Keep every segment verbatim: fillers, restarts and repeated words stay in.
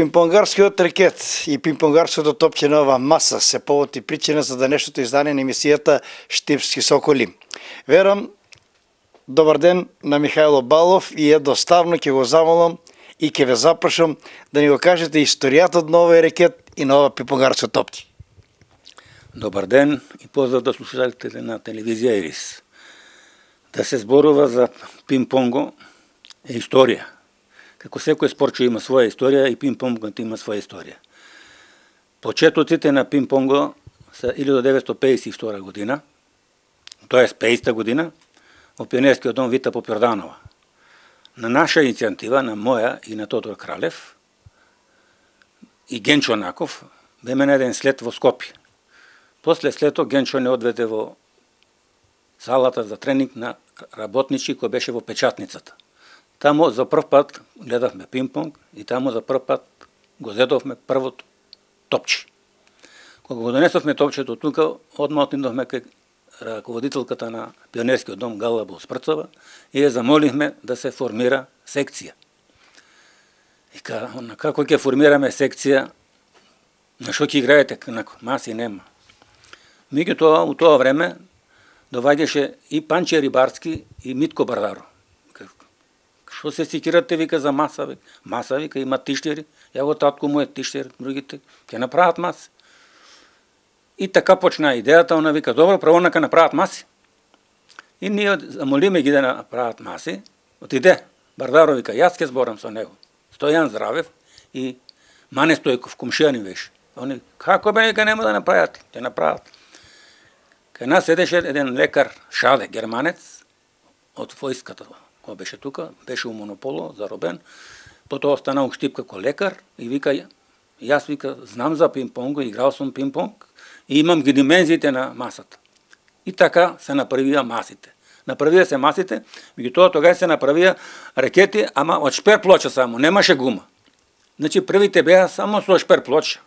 Пинг-понгарскиот рекет и пинг-понгарското топче на ова маса се повод и причина за денешното издание на емисијата Штипски соколи. Верам, добар ден на Михајло Балов и едноставно ќе го замолам и ќе ве запрашам да ни го кажете историјата на овој рекет и на ова пинг-понгарско топче. Добар ден и поздрав до слушателите на телевизија Ирис. Да се зборува за пинг-понго е историја. Како секој спорт има своја историја и пинг-понгот има своја историја. Почетоците на пинг-понго се илјада деветстотини пеесет и втора година, тоест пеесета година, во пионерскиот дом Вита Попјорданова. На наша иницијатива, на моја и на Тодор Кралев и Генчо Наков, беме на еден слет во Скопје. После слето Генчо не одведе во салата за тренинг на работнички кој беше во печатницата. Тамо за прв пат гледавме пинг-понг и тамо за прв пат го зедовме првото топче. Кога го донесовме топчето тука, одма отидовме кај раководителката на пионерскиот дом Гала Булспрцова и ја замолихме да се формира секција. И ка, како ќе формираме секција, на што ќе играете, на маси нема. Меѓутоа, у тоа време доваѓаше и Панче Рибарски и Митко Бардаро. Што се сикирате, вика, за маса, вика. Маса, вика, има тиштери, ја го татко му е тиштер, другите ќе направат маси. И така почна идејата, она вика, добро, право нека направат маси. И ние замолиме ги да направат маси, отиде, Бардаро вика, јас ќе зборам со него. Стојан Здравев и Мане Стојков, комшија беше. Они, како бе, нека нема да направат, ќе направат. Кај нас седеше еден лекар, Шаде, германец, од војската, кој беше тука, беше у монополо, заробен, потоа остана у Штип како лекар и вика, јас вика, знам за пинг-понг, играл сум пинг-понг и имам ги димензиите на масата. И така се направија масите. Направија се масите, меѓутоа тогаш се направија рекети, ама од шпер плоча само, немаше гума. Значи првите беа само со шпер плоча.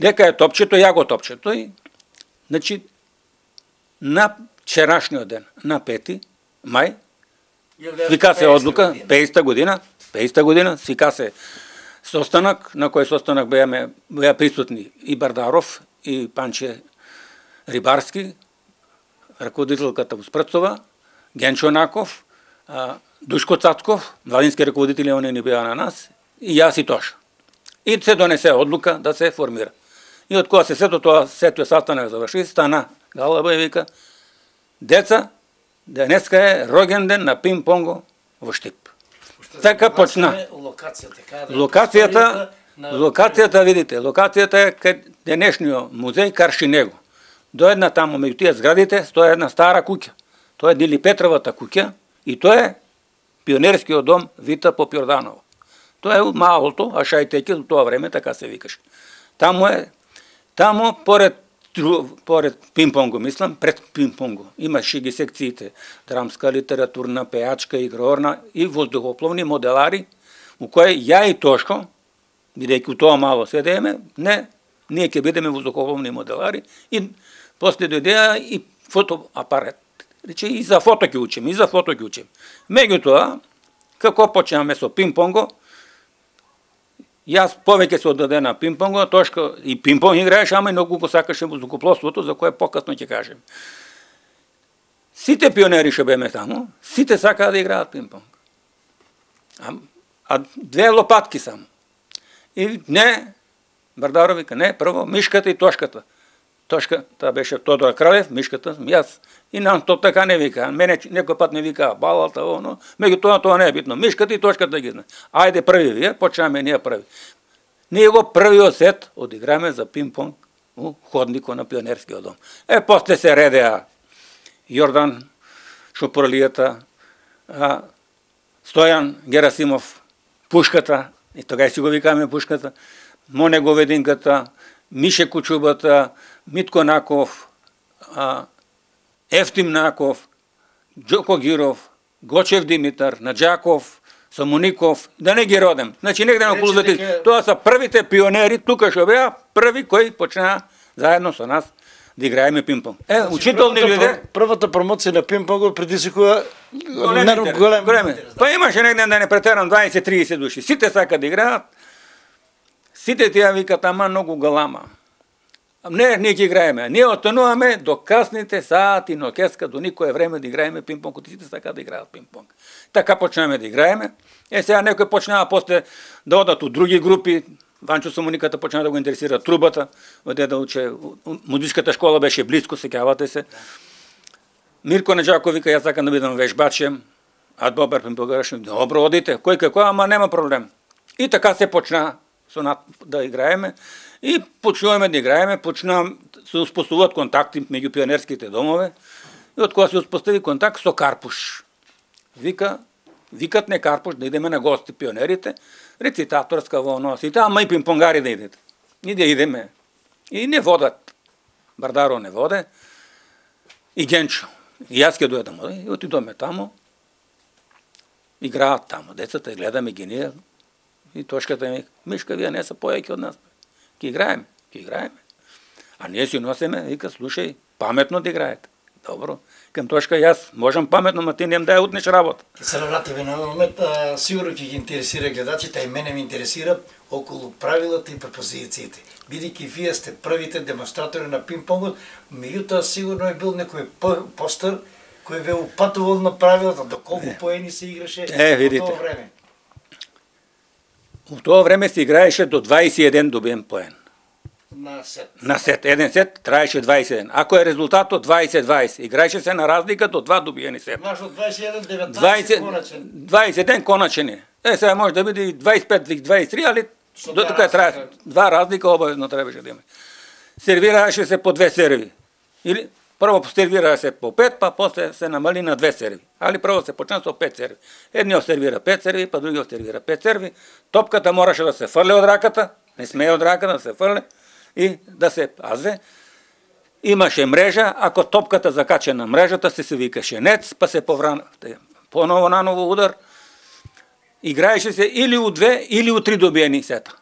Дека е топчето, ја го топчето и значи на вчерашниот ден, на пети мај, свика се одлука, пеесета година, пеесета година, свика се состанок, на кој состанок беа, беа присутни и Бардаров, и Панче Рибарски, раководителката Спрцова, Генчо Наков, Душко Цацков, младински раководители, они не беа на нас, и јас и Тоша. И се донесе одлука да се формира. И од кога се сето тоа, сето састанок заврши, стана Галаба и вика, деца, денеска е роѓен ден на пинг-понго во Штип. Така почна. Локацијата, локацијата, видите, локацијата е кај денешниот музеј Каршинего. До една таму меѓу тие зградите стои една стара куќа. Тоа е Дили Петровата куќа и тоа е пионерскиот дом Вита Попјорданова. Тоа е малото, а Шајтеќе во тоа време така се викаше. Таму е, таму поред поред пинг-понго, мислам, пред пинг-понго. Имаше ги секциите драмска, литературна, пејачка, игрорна и воздухопловни моделари, у кои ја и Тошко, бидејќи у тоа мало седеме, не, ние ќе бидеме воздухопловни моделари и после дојдеа и фотоапарат. Рече, и за фото ќе учим, и за фото ќе учим. Меѓутоа, како почнеме со пинг-понго, јас повеќе се оддаде на пинг-понго, Тошко и пинг-понг играеше, ама и многу го сакаше воздухопловството, за кое покасно ќе кажем. Сите пионери што беме таму, сите сакаа да играат пинг-понг. А, а две лопатки само. И не, Бардаро вика, не, прво мишката и Тошката. Тошка, таа беше Тодор Кралев, мишката сум јас. И нам тоа така не вика. Мене некој пат не вика балата, оно. Меѓутоа тоа не е битно. Мишката и Тошката ги знае. Ајде први вие, почнеме ние први. Ние го првиот сет одиграме за пинг-понг у ходникот на пионерскиот дом. Е, после се редеа Јордан Шопурлијата, Стојан Герасимов, Пушката, и тогаш си го викаме Пушката, Моне Говединката, Мише Кучубата, Митко Наков, Ефтим Наков, Джоко Гиров, Гочев Димитар, Наджаков, Самуников, да не ги родам. Значи негде на околу две. Тоа се првите пионери, тука што беа, први кои почнаа заедно со нас да играеме пинг-понг. Е, учителни луѓе. Првата промоција на пинг-понг предизвикува голем. Па имаше негде да не претерам дваесет до триесет души. Сите сака да играат. Сите тие викат, ама многу галама. Не, ние ќе играеме. Ние остануваме до касните сати ноќеска, до никое време да играеме пинг-понг, сите сака да играат пинг-понг. Така почнеме да играеме. Е, сега некој почнава после да одат у други групи. Ванчо Сомониката почна да го интересира трубата, оде да уче, музичката школа беше близко, сеќавате се. Мирко Неджаков вика, јас сакам да бидам вежбаче, а добар пинг-понгараш, добро одите, кој како, ама нема проблем. И така се почна да играеме и почнуваме да играеме, почна се успоставуват контакти меѓу пионерските домове и од кога се успостави контакт со Карпуш. Вика, викат не Карпуш да идеме на гости пионерите, рецитаторска во носите, ама и пинг-понгари да идете. И да идеме. И не водат. Бардаро не воде. И Генчо. И јас ке дојдам. И отидоме тамо. Играат тамо. Децата гледаме ги ние. И точката ми, Мишка, вие не са појаки од нас. Ке играеме. Ке играеме. А ние си носиме, вика, слушај, паметно да играете. Добро. Към точка јас можам паметно, ма ти нем да ја утнеш работа. Ке се навратиме на момент, сигурно ќе ги интересира гледачите, а и мене ми интересира околу правилата и пропозициите. Бидејќи вие сте првите демонстратори на пинг-понгот, меѓутоа сигурно е бил некој постар кој ве упатувал на правилата, доколку поени се играше е, во тоа време. У тоа време се играеше до дваесет и еден добиен поен. На сет. На сет. Еден сет траеше дваесет и еден. Ако е резултатот дваесет дваесет, играеше се на разлика до два добиени сет. Маш од дваесет и еден деветнаесет коначен. дваесет и еден коначен е. Е, сега може да биде и дваесет и пет дваесет и три, али до тука трае. Два разлика обавезно требаше да има. Сервираеше се по две серви. Или прво сервираше се по пет, па после се намали на две серви. Али прво се почна со пет серви. Едниот сервира пет серви, па другиот сервира пет серви. Топката мораше да се фрле од раката, не смее од раката да се фрле и да се пазе. Имаше мрежа, ако топката закаче на мрежата, се се викаше нец, па се повран поново наново удар. Играеше се или у две, или у три добиени сета.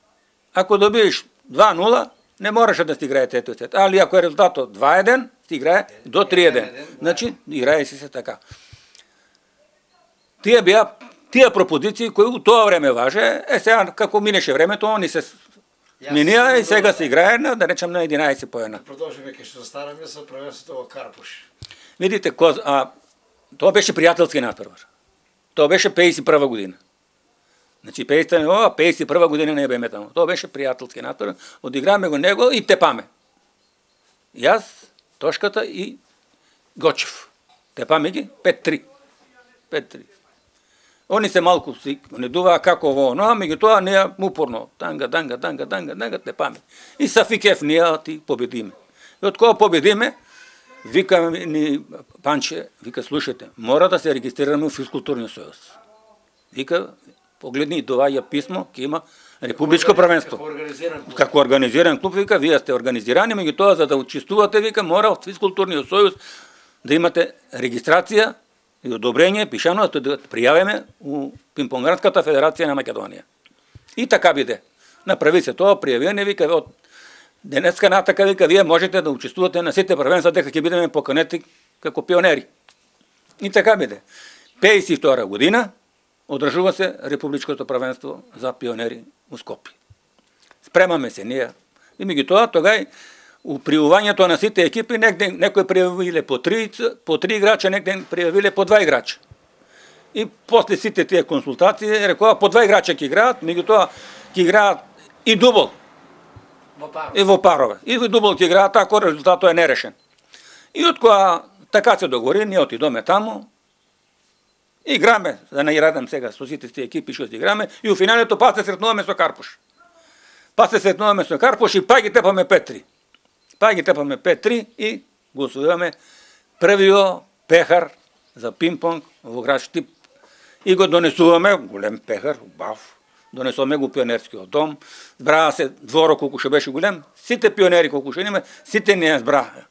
Ако добиеш два нула, не мораше да си играе тето сет. Али ако е резултатот два еден, си играе до три еден. Значи, играеше се така. Тие беа тие пропозиции кои у тоа време важе, е сега како минеше времето, они се минија и сега се играе на, да речем, на единаесет поена. Продолжиме кај што стараме со првенството во Карпуш. Видите, коз, а, тоа беше пријателски натпревар. Тоа беше пеесет и прва година. Значи, пеесет и прва година не беме тамо. Тоа беше пријателски натпревар. Одиграме го него и тепаме. Јас, Тошката и Гочев. Тепаме ги пет три. пет три. Они се малку си недуваа како во оно, а меѓутоа ние упорно танга, танга, танга, танга, танга, тепаме. И са фикев ние ти победиме. И од кога победиме, вика ни Панче, вика, слушайте, мора да се регистрираме во физкултурниот сојуз. Вика, погледни, доаѓа писмо, ќе има републичко првенство. Како организиран клуб. Како организиран клуб, вика, вие сте организирани, меѓутоа за да учествувате, вика, мора од физкултурниот сојуз да имате регистрација и одобрение, пишано да пријавиме у Пинг-понгарската федерација на Македонија. И така биде. Направи се тоа, пријавиме, вика, од денеска натака, вика, вие можете да учествувате на сите првенства, дека ќе бидеме поканети како пионери. И така биде. пеесет и втора година одржува се републичкото првенство за пионери у Скопје. Спремаме се ние. И меѓутоа, тогај у пријавувањето на сите екипи, некој некој пријавиле по три, по три играча, некој пријавиле по два играча. И после сите тие консултации рекоа по два играча ќе играат, меѓутоа ќе играат и дубл. И во парове. И во дубл ќе играат ако резултатот е нерешен. И од кога така се договори, ние отидоме тамо, играме, да не радам сега со сите тие екипи што играме, и у финалето па се сретнуваме со Карпуш. Па се сретнуваме со Карпуш и па ги тепаме пет три. Па ги тепаме пет три и го освојуваме првиот пехар за пинг-понг во град Штип. И го донесуваме, голем пехар, бав, донесуваме го пионерскиот дом, збраа се дворот колку што беше голем, сите пионери колку што имаме, сите не збраа.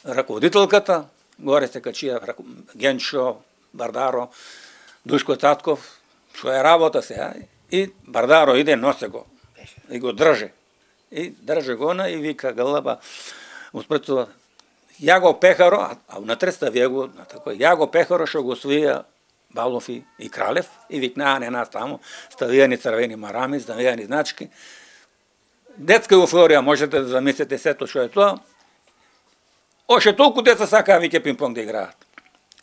Раководителката, горе се качија Генчо, Бардаро, Душко Цатков, што е работа сега, и Бардаро иде, носе го, и го држе. И држе го на и вика гълъба, успрецува, ја го пехаро, а внатре ставија го, ја го пехаро што го освоија Балов и, и Кралев, и викнаа не нас тамо, ставија ни црвени марами, ставија ни значки, детска еуфорија, можете да замислите сето што е тоа. Оше толку деца сакаа виќе пинг-понг да играат.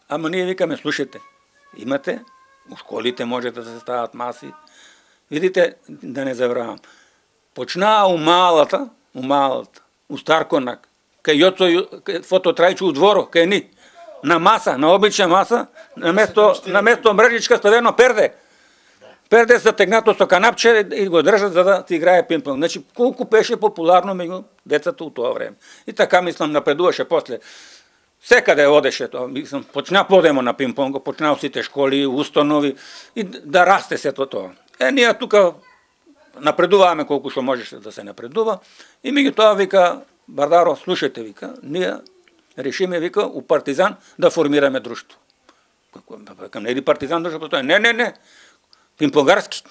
Ама ние викаме, слушайте, имате, у школите можете да се стават маси. Видите, да не забравам. Почнаа у малата, у малата, у Старконак, кај Јоцо фототрајче у дворо, кај ни, на маса, на обична маса, на место, на место мрежичка ставено перде. Перде се тегнато со канапче и го држат за да ти играе пинг-понг. Значи, колку беше популарно меѓу децата у тоа време. И така, мислам, напредуваше после. Секаде одеше тоа, мислам, почна подемо на пинг-понг, почна сите школи, установи и да расте сето тоа. Е, ние тука напредуваме колку што можеше да се напредува и меѓутоа вика Бардаро, слушајте, вика, ние решиме, вика, у Партизан да формираме друштво. Како не е Партизан друштво постои? Не, не, не. Пинг-понгарски.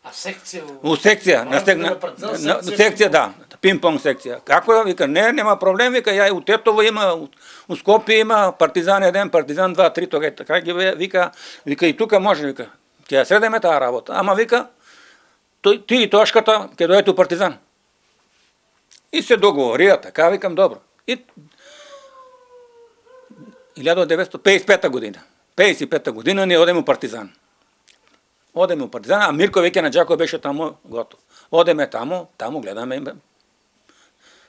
А секција? У секција, на, на, на, на секција, да, пинг-понг секција. Како вика, не, нема проблем, вика, ја у Тетово има, у, у Скопје има, Партизан еден, Партизан два, три, тога така ги вика, вика и тука може, вика, ќе ја средеме таа работа. Ама вика, ти и Тошката ќе дојдете у Партизан. И се договорија, така викам, добро. И илјадесет деветстотини пеесет и пета година. пеесет и пета година ние одеме у Партизан. Одеме у Партизан, а Мирко веќе на Џако беше таму готов. Одеме таму, таму гледаме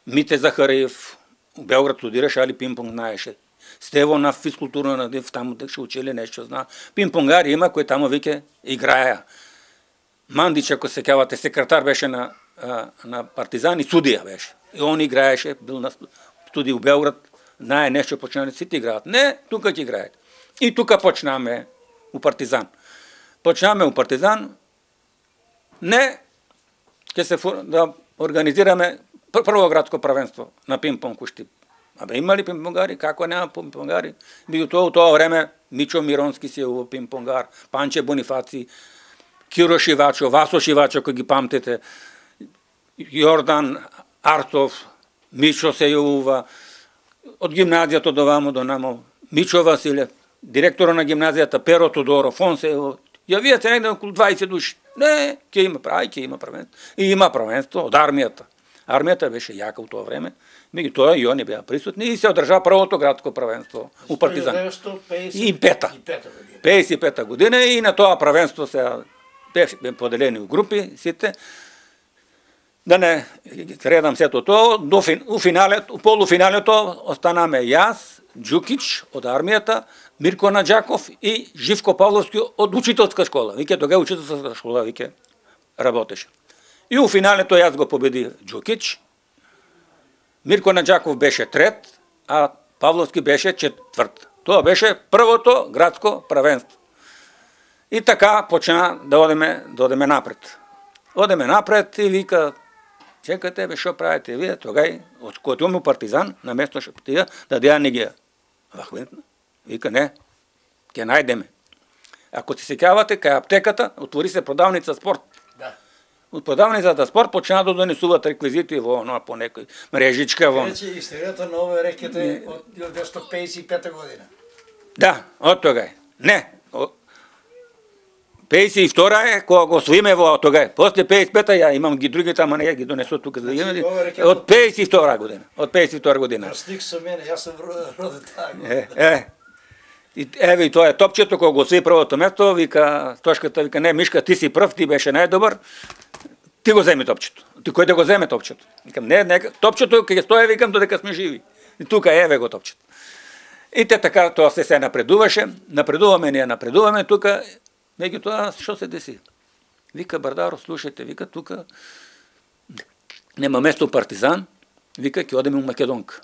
Мите Захариев, у Белград студираше, али пинг-понг знаеше. Стево на физкултурна на Див, таму ше учели нешто зна. Пинг-понгари има кои таму веќе играеа. Мандич, ако се кавате, секретар беше на, на Партизан и судија беше. И он играеше, бил на студија у Белград, знае нешто, почнали сите играат. Не, тука ќе играат. И тука почнаме у Партизан. Почнаме у Партизан, не, ќе се да организираме прво градско правенство на пинг-понг у Штип. Абе, има ли пинг-понгари? Како нема пинг-понгари? Било тоа у тоа време Мичо Миронски си е у пинг-понгар, Панче Бонифаци, Киро Шивачо, Васо Шивачо, кој ги памтите, Јордан Артов, Мичо се јавува, од гимназијата до вамо до намо, Мичо Василев, директора на гимназијата Перо Тодоров, он се јавија се негде околу дваесет души. Не, ќе има, ај, ќе има правенство. И има правенство од армијата. Армијата беше јака у тоа време, меѓутоа и они беа присутни и се одржа првото градско правенство у Партизан. И пета. пеесет и пета година и на тоа правенство се беше поделени у групи сите. Да не редам сето тоа, до у финалето, у полуфиналето останаме јас, Џукич од армијата, Мирко Наџаков и Живко Павловски од учителска школа. Вике тога учителска школа вике работеше. И у финалето јас го победи Џукич. Мирко Наџаков беше трет, а Павловски беше четврт. Тоа беше првото градско правенство. И така почна да одеме, да одеме напред. Одеме напред и вика, чекате бе, шо правите вие, тогај, од којот имаме Партизан, на место што тија, да деја не ги вахвентна. Вика, не, ќе најдеме. Ако се сеќавате, кај аптеката, отвори се продавница спорт. Да. Од продавницата спорт почна да донесуваат реквизити во оно по некој мрежичка во. Рече историјата на овој рекете од деветстотини пеесет и пета година. Да, од тогај. Не, пеесет и втора е кога го освоиме во тогај. После пеесет и пета ја имам ги другите, ама не ја ги донесу тука за да имаме. Од пеесет и втора година. Од пеесет и втора година. Слик со мене, јас сум роден таа година. Е, е. И еве и тоа е топчето кога го освои првото место, вика Тошката, вика не Мишка, ти си прв, ти беше најдобар. Ти го земи топчето. Ти кој да го земе топчето? Викам не, нека топчето кога стои, викам додека сме живи. И тука еве го топчето. И те така тоа се се напредуваше, напредуваме ние, напредуваме тука. Меѓутоа, што се деси? Вика Бардаро, слушајте, вика тука нема место Партизан, вика ќе одеме у Македонка.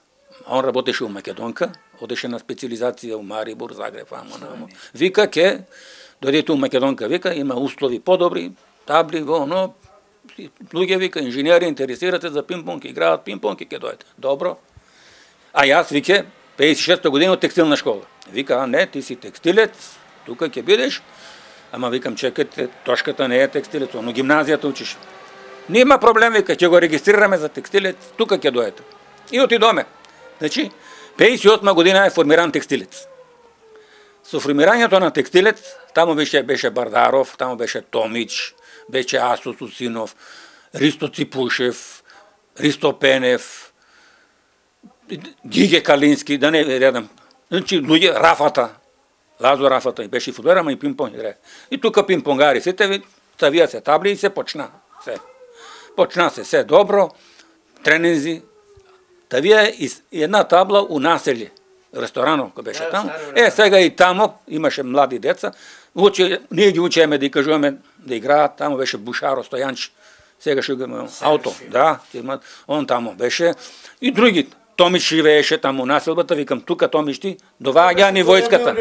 Он работеше у Македонка, одеше на специализација у Марибор, Загреб, амо, намо. Вика ќе дојдете у Македонка, вика има услови подобри, табли, во оно, луѓе вика инженери интересирате за пинг-понг, играат пинг-понг и ќе дојдете. Добро. А јас вика пеесет и шеста година од текстилна школа. Вика, а не, ти си текстилец, тука ќе бидеш. Ама викам, чекайте, Тошката не е текстилец, но гимназијата учиш. Нема проблем, вика, ќе го регистрираме за текстилец, тука ќе дојдете. И отидоме. Значи, пеесет и осма година е формиран текстилец. Со формирањето на текстилец, таму беше, беше Бардаров, таму беше Томич, беше Асо Сусинов, Ристо Ципушев, Ристо Пенев, Гиге Калински, да не редам. Значи, луѓе, Рафата, Лазо Рафата, и беше и фудбалер, ама и пинг-понг играе. И тука пинг-понгари, сите ставија се табли и се почна. Се. Почна се се добро, тренинзи, тавија и една табла у населје, ресторанов кој беше таму. Е, сега и тамо имаше млади деца, учи, ние ги учеме да и кажуваме да играат, тамо беше Бушаро Стојанч, сега што го ауто, да, он тамо беше, и други. Томич живееше таму населбата, викам, тука Томич ти, доваѓа ни војската.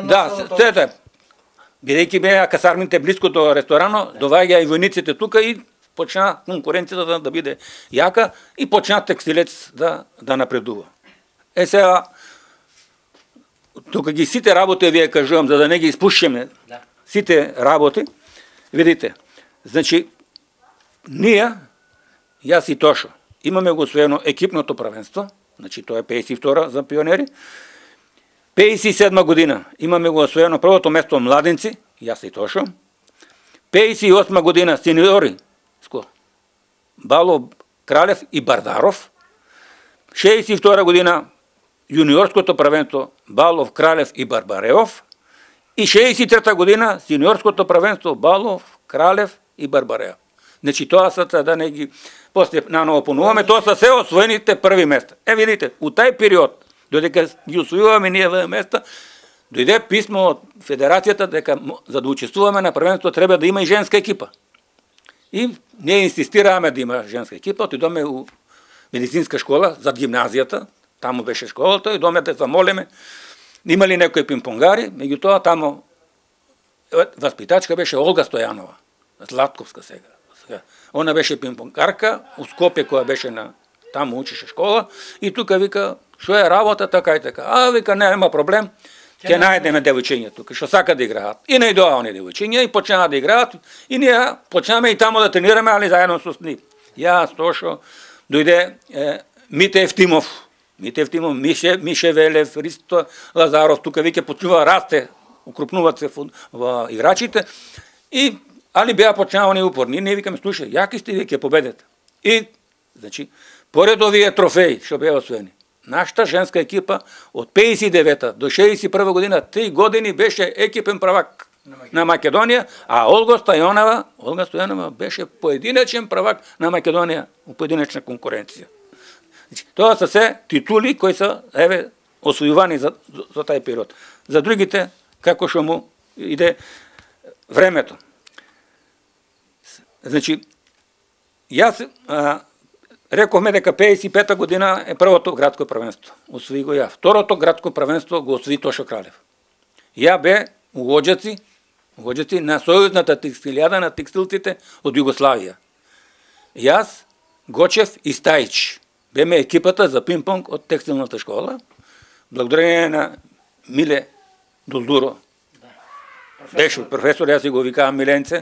Да, сете, бидејќи беа касармите близко до ресторано, доваѓа и војниците тука и почна конкуренцијата да, да биде јака и почна текстилец да, да напредува. Е сега, тука ги сите работи, вие кажувам, за да не ги испушиме, да. Сите работи, видите, значи, ние, јас и Тошо, имаме го освоено екипното правенство, значи тоа е пеесет и втора за пионери, пеесет и седма година имаме го освоено првото место младенци, јас и Тошо, пеесет и осма година сениори, Бало, Кралев и Бардаров, шеесет и втора година јуниорското правенство Балов, Кралев и Барбареов и шеесет и трета година сениорското правенство Балов, Кралев и Барбареов. Значи тоа са, да не ги после наново понуваме, тоа са се освоените први места. Е, видите, у тај период, додека ги освојуваме ние овие места, дојде писмо од Федерацијата дека за да учествуваме на првенство треба да има и женска екипа. И ние инсистираме да има женска екипа, отидоме у медицинска школа зад гимназијата, таму беше школата, и доме да замолиме, има ли некои пинг-понгари, меѓутоа таму васпитачка беше Олга Стојанова, Златковска сега. Она беше пинг-понгарка, у Скопје која беше на таму учеше школа, и тука вика, што е работа, така и така. А, вика, нема проблем, ќе најдеме девојчиња тука, што сака да играат. И најдоа они девојчиња, и почнаа да играат, и ние почнаме и таму да тренираме, али заедно со нив. Јас, Тошо, дојде е, Мите Евтимов, Мите Евтимов, Мише, Мише Велев, Ристо Лазаров, тука веќе почнува расте, укрупнуваат се во играчите, и али беа почнавани упорни. Ние викаме, слушај, јаки сте вие ќе победете. И, значи, поред овие трофеи што беа освоени, нашата женска екипа од пеесет и девета до шеесет и прва година, три години беше екипен правак на Македонија, а Олга Стојанова, Олга Стојанова беше поединечен правак на Македонија у поединечна конкуренција. Значи, тоа се се титули кои се еве освојувани за, за, за тај период. За другите, како што му иде времето. Значи, јас а, рековме дека пеесет и пета година е првото градско првенство. Освои го ја. Второто градско првенство го освои Тошо Кралев. Ја бе у Оџаци, у Оџаци на сојузната текстилијада на текстилците од Југославија. Јас, Гочев и Стајич беме екипата за пинг-понг од текстилната школа. Благодарение на Миле Дулдуро. Беше професор, јас си го викавам Миленце.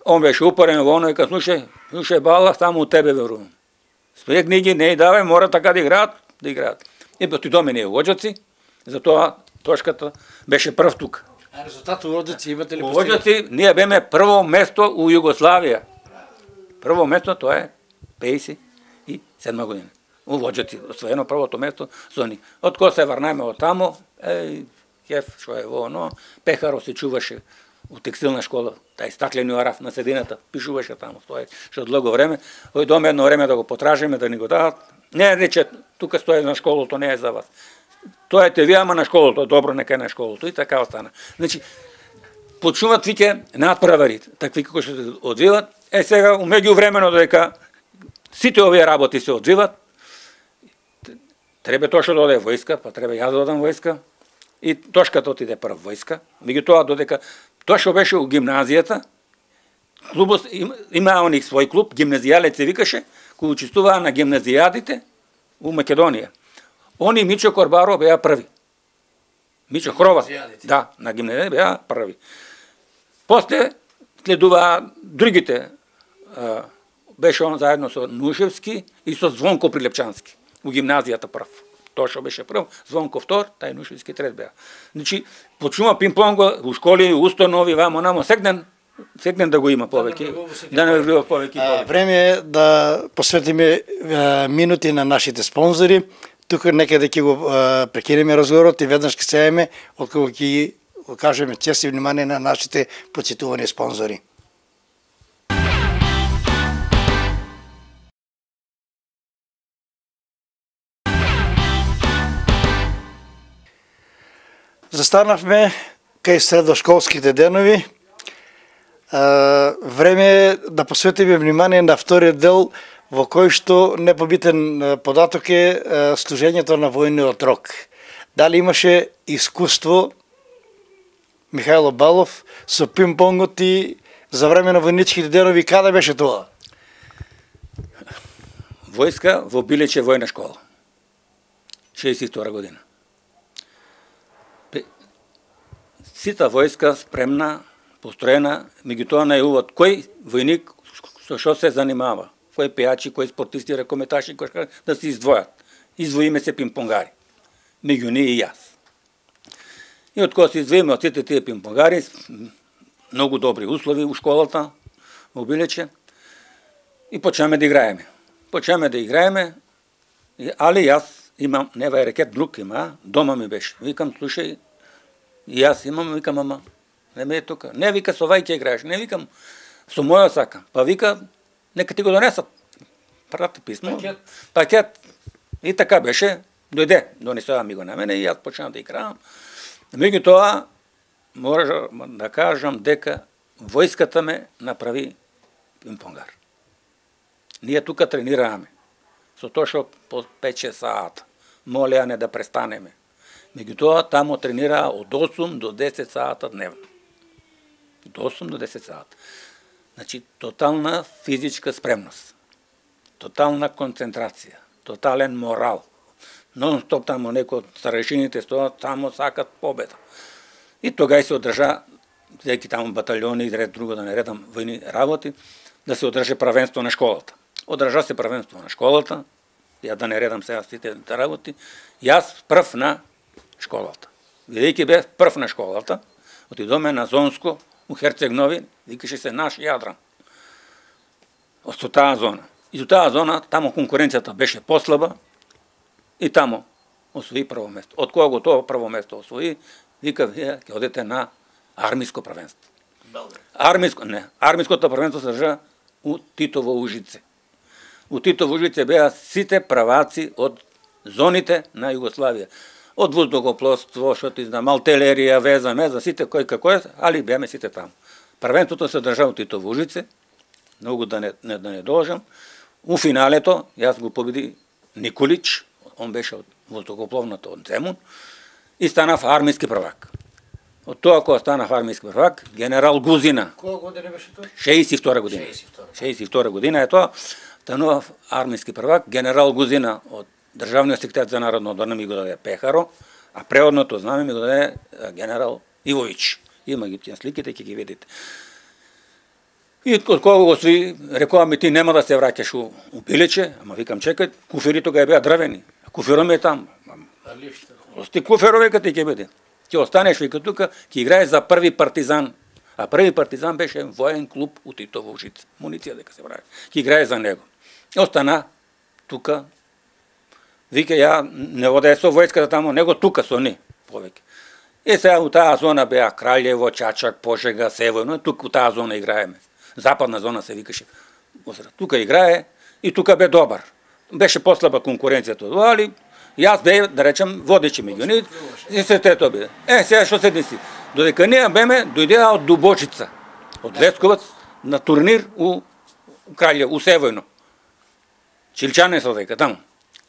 Он беше упорен во оно и ка слушај, слушај Бала, само у тебе верувам. Спрегни ги, не и давај, мора така да играат, да играат. И отидоме ние во Оџаци, затоа Тошката беше прв тука. А резултат у Оџаци имате ли? У Оџаци ние беме прво место у Југославија. Прво место тоа е пеесет и седма година. У Оџаци освоено првото место со ни. Од кога се врнеме од тамо, еј, кеф, што е во оно, Пехаро се чуваше у текстилна школа, тај стаклени араф на седината, пишуваше таму, стои што долго време, ој доме едно време да го потражиме, да ни го дадат. Не, рече, тука стои на школото, не е за вас. Тоа е те вие, ама на школото, добро, нека е на школото, и така остана. Значи, почнуваат виќе надправари, такви како што се одвиват. Е, сега, умеѓу времено, додека сите овие работи се одвиват, треба Тошо да оде војска, па треба јас да одам војска, и Тошката отиде прв војска, меѓутоа додека Тошо беше у гимназијата, клубот има оник свој клуб, гимназијалец се викаше, кој учествуваа на гимназијадите у Македонија. Они Мичо Корбаро беа први. Мичо Хрова, да, на гимназијадите беа први. После следуваа другите, а, беше он заедно со Нушевски и со Звонко Прилепчански у гимназијата прв. Тошо беше прв, Звонко втор, тај Нушевски трет беа. Значи, почнува пинг-понго у школи, установи, вамо намо, сегден секнем да го има повеќе, да не влива повеќе. А, време е да посветиме а, минути на нашите спонзори. Тука некаде ќе го а, прекинеме разговорот и веднаш ќе сееме откако ќе кажеме чест и внимание на нашите почитувани спонзори. Застанавме кај средошколските денови. Време е да посветиме внимание на вториот дел, во кој што непобитен податок е служењето на војниот рок. Дали имаше искуство Михајло Балов со пинг-понгот и за време на војничките денови, каде беше тоа? Војска во Билече војна школа. шеесет и втора година. Сита војска спремна, построена, меѓутоа најуват кој војник со што се занимава, кој пејачи, кој спортисти, ракометаши, кој да се издвојат. Издвоиме се пинг-понгари. Меѓу ние и јас. И од кога се издвоиме од сите тие пинг-понгари, многу добри услови у школата, во Билече, и почнеме да играеме. Почнеме да играеме, али јас имам, нева е рекет, друг има, дома ми беше. Викам, слушај, и јас имам, викам, ама, не ме е тука. Не, вика, со вај ќе играеш, не, викам, со моја сака. Па вика, нека ти го донесат. Прати писмо. Пакет. Пакет. И така беше, дојде, донесува ми го на мене и јас почнав да играам. Меѓутоа, можам да кажам дека војската ме направи пинг-понгар. Ние тука тренираме. Со тоа што по пет-шест саата. Молеа не да престанеме. Меѓутоа, тамо тренираа од осум до десет саата дневно. Од осум до десет саата. Значи, тотална физичка спремност. Тотална концентрација. Тотален морал. Нон-стоп тамо некој од старешините стоат, тамо сакат победа. И тогај се одржа, зеки тамо баталјони и ред друго да не редам војни работи, да се одржа правенство на школата. Одржа се правенство на школата, ја да не редам сега сите работи, јас прв на школата. Бидејќи бев прв на школата, отидоме на Зонско, у Херцег Нови, викаше се наш Јадран. Со таа зона. И со таа зона, тамо конкуренцијата беше послаба, и тамо освои прво место. Од кога го тоа прво место освои, вика, вие ќе одете на армиско правенство. Армиско, не, армиското правенство се држа у Титово Ужице. У Титово Ужице беа сите праваци од зоните на Југославија. Од воздухопловство, што ти знам, артилерија, веза, меза, сите кој како е, али беаме сите таму. Првенството се држа у Титово Ужице, многу да не, не, да не должам. У финалето, јас го победи Николич, он беше од воздухопловната од Земун, и станав армиски првак. Од тоа кога станав армиски првак, генерал Гузина. Која година беше тоа? шеесет и втора година. шеесет и втора година е тоа, станував армиски првак, генерал Гузина од Државниот секретар за народно одбрана ми го даде Пехаро, а преодното знаме ми го даде генерал Ивович. Има ги тие сликите, ќе ги видите. И од кога го сви, рекоа ми ти нема да се враќаш у, у Билече, ама викам чекај, куфери тога беа дрвени. Куфером е там. Ости куферове кај ќе биде. Ќе останеш вика тука, ќе играеш за први партизан. А први партизан беше воен клуб у Титово Ужице. Муниција дека се прави. Ќе играе за него. Остана тука. Вика ја не оде со војската тамо, него тука со ни повеќе. И сега у таа зона беа Краљево, Чачак, Пожега, Севојно, тука у таа зона играеме. Западна зона се викаше. Тука играе и тука бе добар. Беше послаба конкуренцијата, али јас бе, да речем, водечи меѓу нив, и се тето биде. Е, сега што се деси? Додека ние беме, дојдеа од Дубочица, од Лесковац, на турнир у Краљево, у Севојно. Чилчане се дека таму.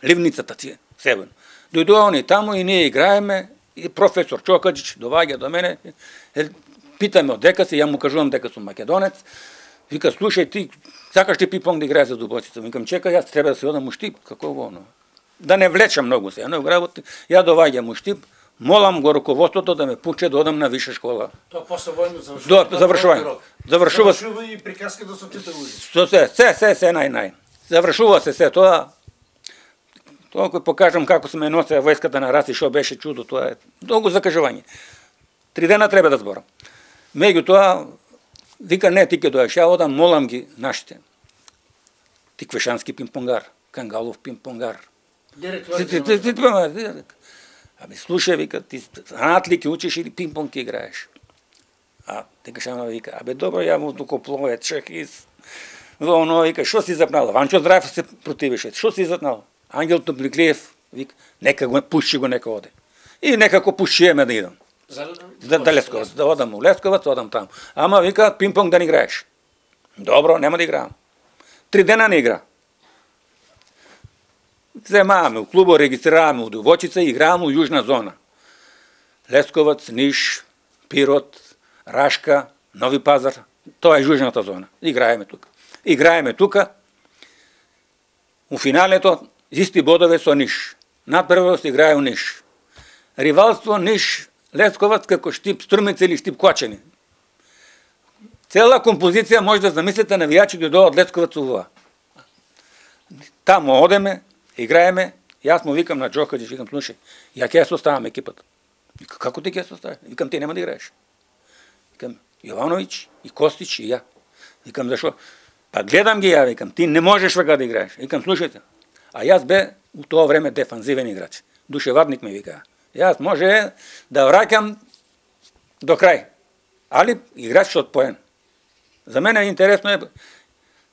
Ливницата ти е, Севојно. Дојдоа они таму и ние играеме, и професор Чокаџич доваѓа до мене, е, питаме од дека си, ја му кажувам дека сум македонец, вика, слушај ти, сакаш ти пинг-понг да играеш за Дубочица? Викам, чекај, јас треба да се одам у Штип, како во оно. Да не влечам многу се, но работи, ја доваѓам у Штип, молам го руководството да ме пуче да одам на виша школа. Тоа после војно завршува. До завршување. Завршува. Завршува и приказката со Титово Ужице. Со се, се, се, се нај-нај. Завршува се се тоа. Тоа кој покажам како се ме носе војската на Раси, што беше чудо, тоа е многу закажување. Три дена треба да зборам. Меѓутоа, Вика, не, ти ке дојдеш, ја одам, молам ги нашите. Тиквешански пимпонгар, Кангалов пимпонгар. Абе, слушај, вика, ти знаат ли ке учиш или пимпонг ке играеш? А Тиквешанов вика, абе, добро, ја му туко плове, чехис. Во оно, вика, шо си запнал? Ванчо Здраев се противеше, шо си запнал? Ангел Топликлиев, вика, нека го пуши го, нека оде. И некако пушиеме да идам. За да Лесковац, да одам у Лесковац, одам там. Ама вика, пимпонг да не играеш. Добро, нема да играам. Три дена не игра. Земаваме у клубо, регистрираме у Довочица и играаме у Јужна зона. Лесковац, Ниш, Пирот, Рашка, Нови Пазар. Тоа е Јужната зона. Играеме тука. Играеме тука. У финалето исти бодове со Ниш. Надпрвост играе у Ниш. Ривалство Ниш, Лесковац како Штип Струмица или Штип Кочени. Цела композиција може да замислите навијачи дојдоа од Лесковац уваа. Таму одеме, играеме, јас му викам на Джокаџич, викам, слушај, ја ќе ја составам екипата. Вика, како ти ќе ја составиш? Викам, ти нема да играеш. Викам, Јовановиќ и Костич и ја. Викам, зашо? Па гледам ги ја, викам, ти не можеш вака да играеш. Викам, слушајте, а јас бе у тоа време дефанзивен играч. Душевадник ме вика. Јас може да враќам до крај, али играч од поен. За мене интересно е,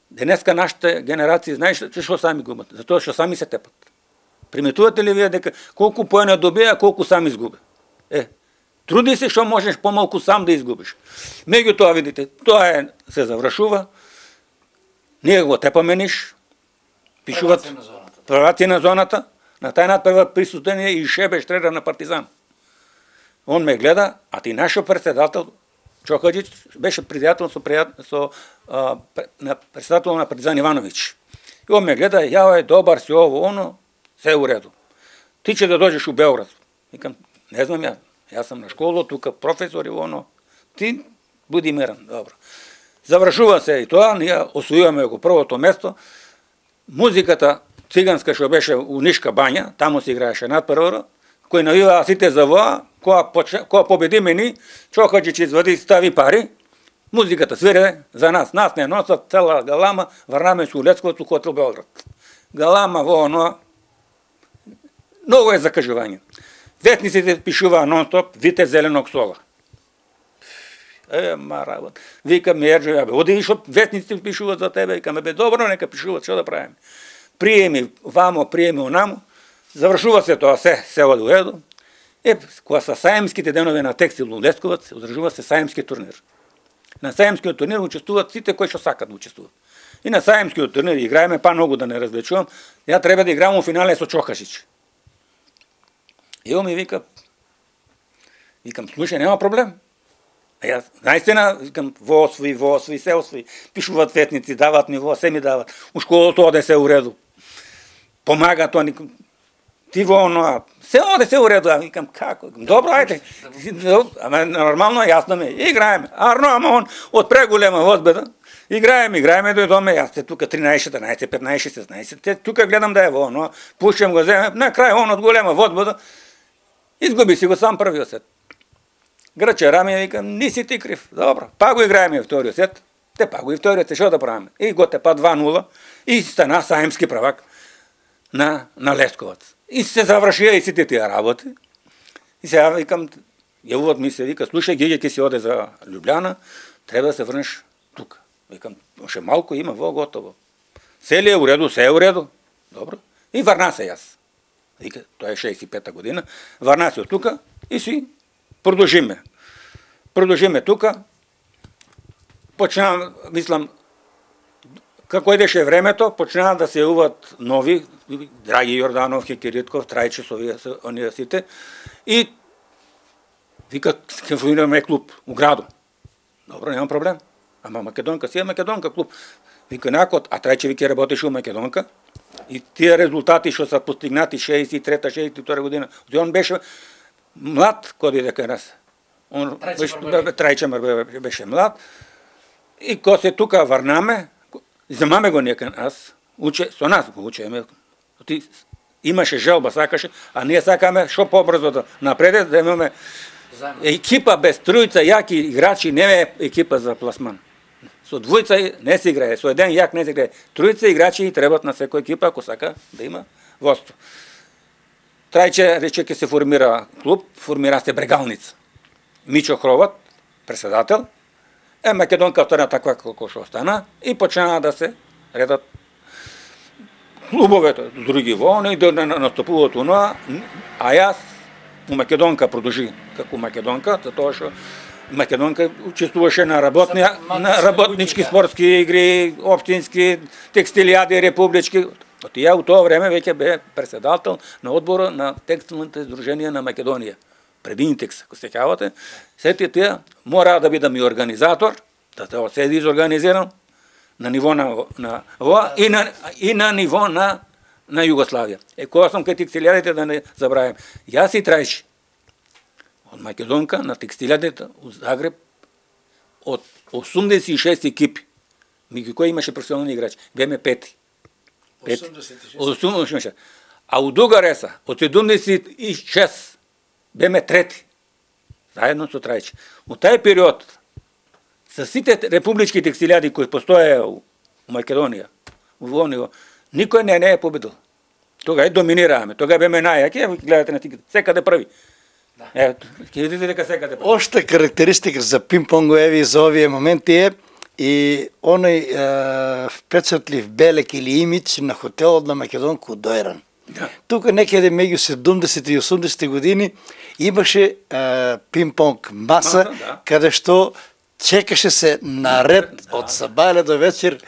денеска нашите генерации, знаеш што сами губат? Затоа што сами се тепат. Приметувате ли вие дека колку поена добија, колку сам изгуби? Е, труди се што можеш помалку сам да изгубиш. Меѓутоа, видите, тоа е, се завршува, ние го тепаме Ниш, пишуват прваци на зоната, на тај надпрва присутен и Шебе Штрера на Партизан. Он ме гледа, а ти нашо председател, Чокаџич, беше пријател со, со а, на председател на Партизан Ивановиќ. И он ме гледа, ја е добар си ово, оно, се е у реду. Ти ќе да доđеш у Београд. Викам, не знам ја, јас сам на школа, тука професор и оно. Ти буди мирен, добро. Завршува се и тоа, ние освојуваме го првото место. Музиката циганска што беше у Нишка бања, таму се играеше надпрвора, кој навиваа сите за воа, која, која победи мени, Чокаџич извади стави пари, музиката свире за нас, нас не носат цела галама, врнаме се у Лесковац у хотел Белград. Галама во оно, многу е закажување. Ветниците пишуваа нон-стоп, вите зеленог сола. Е, ма работа. Викам, Ерџо, ја бе, оди што ветниците пишуваат за тебе, викаме, бе, добро, нека пишуваат, што да правиме? Приеми вамо, приеми онамо, завршува се тоа, се, се оди у реду. Е, кога са саемските денови на Текстил у Лесковац, одржува се саемски турнир. На саемскиот турнир учествуваат сите кои што сакат да учествуваат. И на саемскиот турнир играеме, па многу да не развлечувам, ја треба да играм у финале со Чокаџич. И он ми вика, викам, слушај, нема проблем. А јас, наистина, викам, во освои, во освои, се освои. Пишуваат ветници, дават ми во, се ми дават. У школото оде се у реду. Помага тоа, никам, ти во оно, се оде се у реду. А викам, како? Добро, ајде. Ама нормално, јасно ми, играеме. Арно, ама он, од преголема возбеда, играеме, играеме, дојдоме, јас те тука тринаесет, четрнаесет, петнаесет, шеснаесет, те тука гледам да е во оно, пушам го, земе, на крај он од голема возбеда, изгуби си го сам првиот сет. Грче раме, викам, не си ти крив. Добро, па го играеме вториот сет. Те па го и вториот сет, што да правиме? И го те па два нула и стана саемски правак на, на Лесковац. И се завршија и сите тие работи. И сега викам, јавуват ми се, вика, слушај, Геѓе ќе си оде за Љубљана, треба да се врнеш тука. Викам, още малко има, во готово. Се ли е у реду, се е у реду. Добро. И врна се јас. Вика, тоа е шеесет и пета година. Врна се од тука и си продолжиме. Продолжиме тука. Почнаа, мислам, како идеше времето, почнаа да се јавуваат нови, Драги Јорданов, Хекиритков, Трајче со оние сите. И вика, ќе формираме клуб у граду. Добро, нема проблем. Ама Македонка си е Македонка клуб. Вика накот, а Трајче вика работеше у Македонка. И тие резултати што се постигнати шеесет и трета, шеесет и втора година, он беше млад кога иде кај нас. Он Трајче беше млад. И кога се тука врнаме, земаме го нека нас, уче, со нас го учеме. Ти имаше желба, сакаше, а ние сакаме што побрзо да напреде, да имаме екипа без тројца јаки играчи, не е екипа за пласман. Со двојца не се играе, со еден јак не се играе. Тројца играчи требат на секоја екипа ако сака да има водство. Трајче рече ќе се формира клуб, формира се Брегалница. Мичо Хроват, председател, е Македонка остана таква како што остана и почна да се редат клубовете, други волни, да настапуваат оноа, а јас у Македонка продолжи како Македонка, затоа што Македонка учествуваше на работни на работнички спортски игри, општински, текстилијади републички. Оти ја у тоа време веќе бе председател на одбора на текстилните здруженија на Македонија. Пред Интекс, ако се сеќавате, сети тие мора да бидам и организатор, да тоа се изорганизирам на ниво на на ова и на и на ниво на на Југославија. Е кога сум кај текстилијадите да не забравам. Јас и Трајчи од Македонка на текстилијадите у Загреб од осумдесет и шест екипи. Меѓу кои имаше професионални играчи. Беме пети. осумдесет и шест. А у Дугареса од седумдесет и шест беме трети. Заедно со Трајчи. У тај период со сите републички текстилијади кои постоеа у Македонија, у Вониво, никој не не е победил. Тога е доминираме, тога беме најаки, гледате на тиките, секаде први. Е, ќе видите дека секаде први. Ошта карактеристика за пинг-понго еви за овие моменти е и оној е, впечатлив белек или имидж на хотелот на Македонка у Дојран. Да. Тука некаде меѓу седумдесети и осумдесети години имаше е, пинг-понг маса, Маса, да. каде што чекаше се наред Да, од сабајле до вечер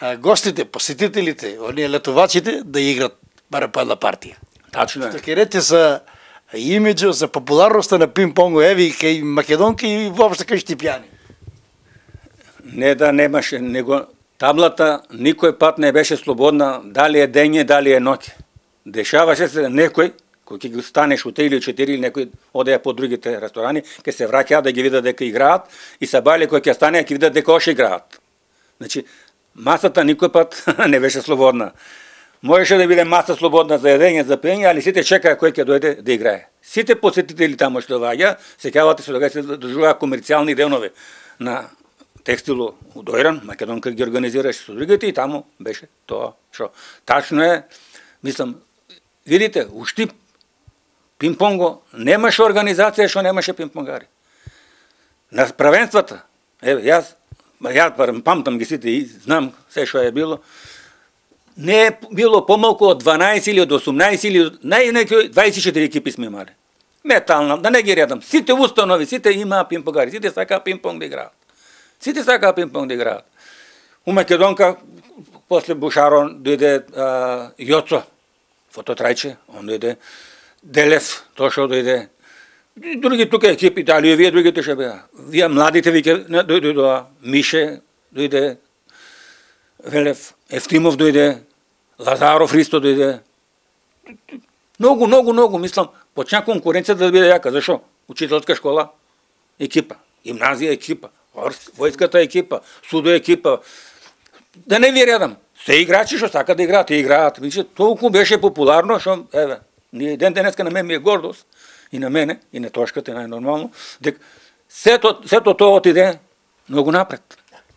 е, гостите, посетителите, оние летувачите да играт барем по една партија. Тачно е. Што ќе рече за имиджот, за популарноста на пинг-понго еви кај Македонки и воопшто кај Штипјани. Не да немаше, него таблата никој пат не беше слободна, дали е дење, дали е ноќе. Дешаваше се некој, кој ќе ги станеш у три или четири или некој одеја по другите ресторани, ќе се враќаат да ги видат дека играат и сабајле кој ќе стане ќе видат дека оше играат. Значи, масата никој пат не беше слободна. Можеше да биде маса слободна за едење, за пиење, али сите чекаа кој ќе дојде да играе. Сите посетители таму што доаѓа, сеќавате се дека се држуваа комерцијални денови на текстилу у Дојран, Македонка ги организираше со другите и таму беше тоа што. Тачно е, мислам, видите, у Штип пинг-понго немаше организација што немаше пинг-понгари. На правенствата, еве, јас, ја памтам ги сите и знам се што е било, не е било помалку од дванаесет или од осумнаесет или најнеки дваесет и четири екипи сме имали. Метална, да не ги редам. Сите установи, сите имаа пинг-понгари, сите сакаа пинг-понг да играат. Сите сакаа пинг-понг да играат. У Македонка, после Бушарон, дојде Јоцо, Фото Трајче, он дојде Делев, тоа што дојде. Други тука екипи, дали вие другите ще беа. Вие младите веќе дојдоа, Мише дојде, Велев, Ефтимов дојде, Лазаров Ристо дојде. Многу, многу, многу, мислам, почна конкуренција да биде јака. Зашо? Учителска школа, екипа, гимназија екипа, војската екипа, судо екипа. Да не ви редам. Се играчи што сака да играат, и играат. Више, толку беше популарно, што, еве, ние ден денеска на мен ми е гордост, и на мене, и на Тошката, најнормално, дека сето, сето тоа отиде многу напред.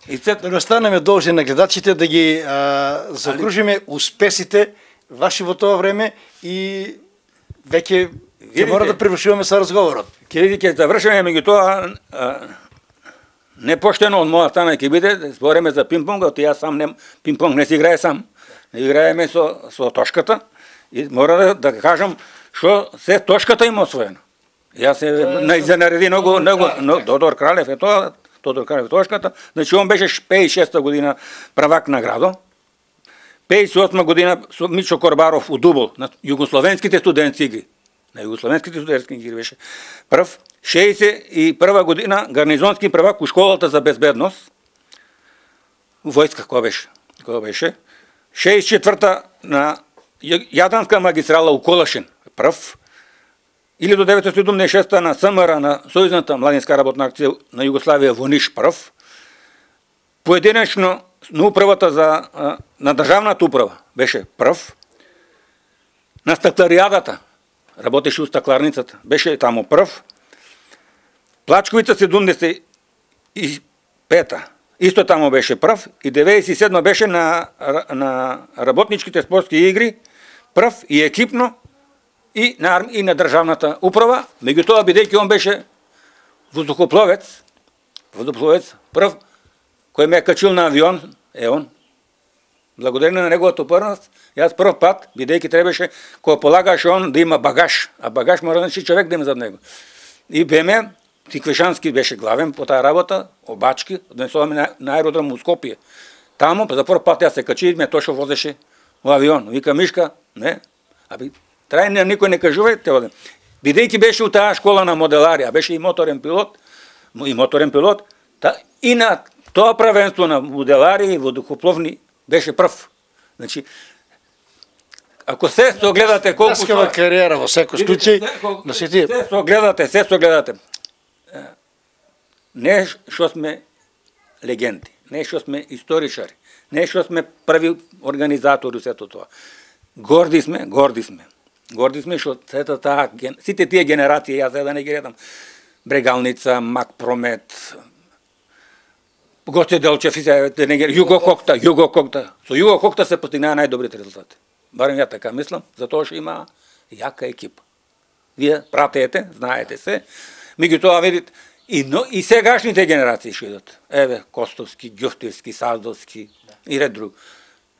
И сето... Да останеме должни на гледачите да ги а, закружиме успесите ваши во тоа време и веќе ќе мора да превршуваме со разговорот. Ќе види, ќе завршиме, меѓутоа непоштено од моја страна ќе биде, збореме за пинг-понг, јас сам не пинг-понг не си играе сам. Не играеме со со Тошката и мора да, да кажам што се Тошката има освоено. Јас се најзанареди многу многу Тодор Кралев е тоа, Тодор Кралев Тошката, значи он беше пеесет и шеста година правак на градо. пеесет и осма година со Мичо Корбаров у Дубол на југословенските студентски игри. На југословенските студентски игри беше прв. шеесет и прва година гарнизонски правак у школата за безбедност. У војска која беше? Која беше? шеесет и четврта на Јадранска магистрала у Колашин, прв. илјаду деветстотини седумдесет и шеста на СМР, на Сојузната младинска работна акција на Југославија во Ниш, прв. Поединечно на управата за на државната управа беше прв. На стакларијадата работеше у стакларницата, беше таму прв. Плачковица седумдесет и пета исто тамо беше прв и деветдесет и седма беше на, на работничките спортски игри прв и екипно и на, и на државната управа, меѓутоа бидејќи он беше воздухопловец, воздухопловец прв кој ме е качил на авион, е он. Благодарение на неговата упорност, јас прв пат, бидејќи требаше, кога полагаше он да има багаж, а багаж мора значи човек да има зад него. И беме, Тиквешански беше главен по таа работа, обачки, однесуваме на, на аеродром у Скопје. Тамо, за прв пат јас се качи, ме точно возеше во авион. Вика, Мишка, не, аби, трајно никој не кажува, те одем. Бидејќи беше у таа школа на моделарија, беше и моторен пилот, и моторен пилот, та, и на тоа правенство на моделари и водохопловни беше прв. Значи, ако се согледате колку Наскава кариера во секој случај, на сите се согледате, се согледате. Не што сме легенди, не што сме историчари, не што сме први организатори сето тоа. Горди сме, горди сме. Горди сме што сета таа сите тие генерации, јас за да не ги редам, Брегалница, Мак Промет, Гоце Делчев, Југо Кокта, Југо Кокта. Со Југо Кокта се постигнаа најдобрите резултати. Барем ја така мислам, затоа што има јака екипа. Вие пратете, знаете се, меѓутоа видите и но и сегашните генерации што идат. Еве Костовски, Ѓуфтевски, Саздовски и ред друг.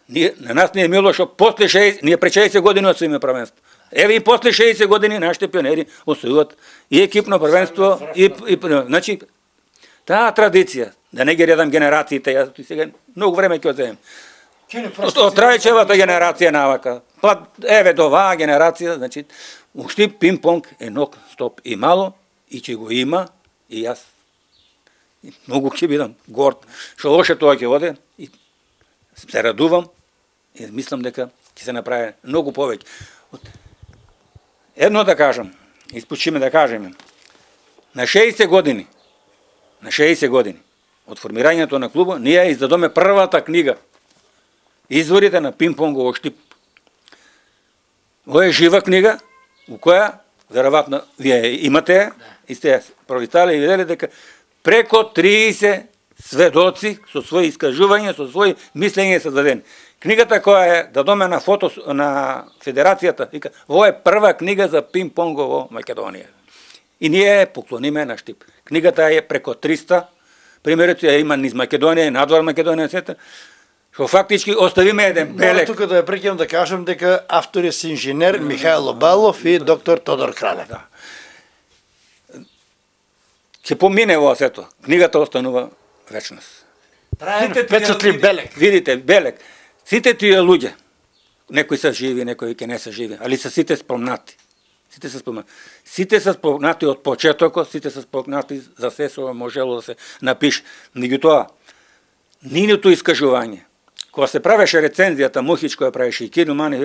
Ние на нас не е мило што после шеесет, ние пред шеесет години освоиме првенство. Еве и после шеесет години нашите пионери освојуваат и екипно првенство и, и значи таа традиција, да не ги редам генерациите, јас сега многу време ќе одземем. Од Трајчевата генерација навака, па еве до оваа генерација, значи уште пинг-понг е нок стоп и мало и ќе го има и јас многу ќе бидам горд што лоше тоа ќе оде и се радувам и мислам дека ќе се направи многу повеќе. Едно да кажам, испучиме да кажеме, на шеесет години, на шеесет години од формирањето на клубот, ние издадоме првата книга Изворите на пинг-понгово штип. Ова е жива книга, у која, веројатно, вие имате, и сте прочитали и видели дека преко триесет сведоци со своји искажувања, со своји мислења се дадени. Книгата која е дадоме на фото на Федерацијата, вика, ова е прва книга за пинг-понго во Македонија. И ние поклониме на штип. Книгата е преко триста, примерите ја има низ Македонија и надвор Македонија, сета, што фактички оставиме еден белек. Тука да ја прекинам да кажам дека автори се инженер Михајло Балов и доктор Тодор Кралев. Да. Ќе помине во сето. Книгата останува вечност. Траен впечатлив белек. Видите, белек. Сите тие луѓе, некои се живи, некои ќе не се живи, али се сите спомнати. Сите се спомнати. Сите се спомнати од почетокот, сите се спомнати за се што можело да се напише. Меѓутоа, нивното искажување, кога се правеше рецензијата, Мухич која правеше и Кирил Мани,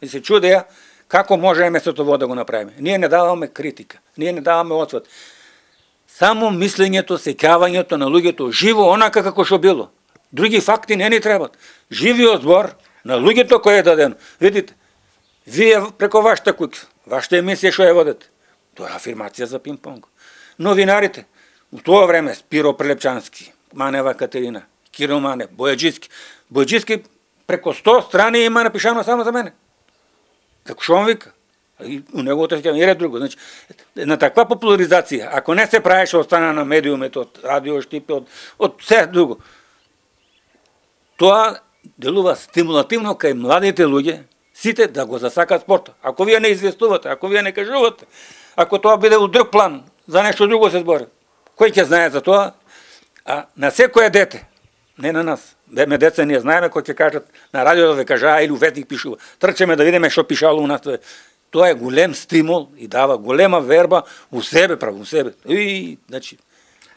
и се чудеја како можеме сето во да го направиме. Ние не даваме критика, ние не даваме отсвет. Само мислењето, сеќавањето на луѓето живо онака како што било. Други факти не ни требат. Живиот збор на луѓето кој е даден. Видите, вие преко вашата куќа, вашата емисија што ја водите, тоа е афирмација за пинг-понг. Новинарите, у тоа време Спиро Прелепчански, Манева Катерина, Кирил Манев, Бојаджиски. Бојаджиски преко сто страни има напишано само за мене. Како што он вика? И у неговото сеќавање и ред друго. Значи, на таква популаризација, ако не се правеше од страна на медиумите, од радио штипи, од, од се друго, тоа делува стимулативно кај младите луѓе, сите да го засакат спортот. Ако вие не известувате, ако вие не кажувате, ако тоа биде у друг план, за нешто друго се збори, кој ќе знае за тоа? А на секое дете, не на нас, деме деца ние знаеме кој ќе кажат на радио да ве кажаа или у ветник пишува. Трчеме да видиме што пишало у нас. Тоа е голем стимул и дава голема верба у себе, право у себе. И, значи,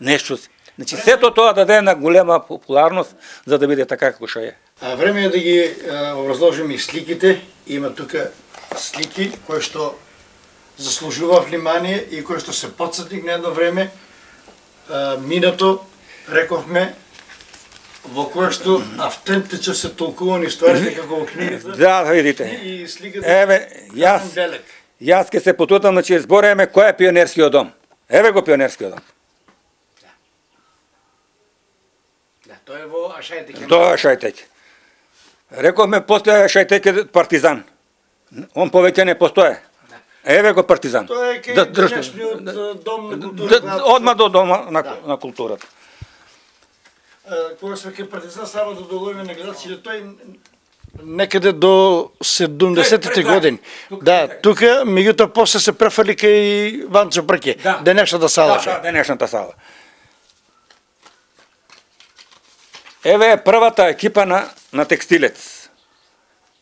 нешто си. Значи, сето тоа даде на голема популарност за да биде така како што е. А време е да ги образложиме и сликите. Има тука слики кои што заслужува внимание и кои што се потсетник на едно време. А, минато, рековме, во кое што автентично се толкувани стварите како во книгата. Да, видите. И сликата. Еве, јас, јас ке се потутам, значи збореме кој е пионерскиот дом. Еве го пионерскиот дом. Да, тоа е во Ашајтеке. Тоа е Ашајтеке. Рековме, постоја Ашајтеке Партизан. Он повеќе не постоje. Еве го Партизан. Тоа е кај денешниот дом на културата. Одма до дома на, да. на културата. Кога сме кај Партизан, само да доловиме на гледачите, тој некаде до седумдесетите години. Да, тука, меѓутоа после се префрли кај Ванчо Брке, да. денешната сала. Да, да, денешната сала. Еве е првата екипа на, на текстилец.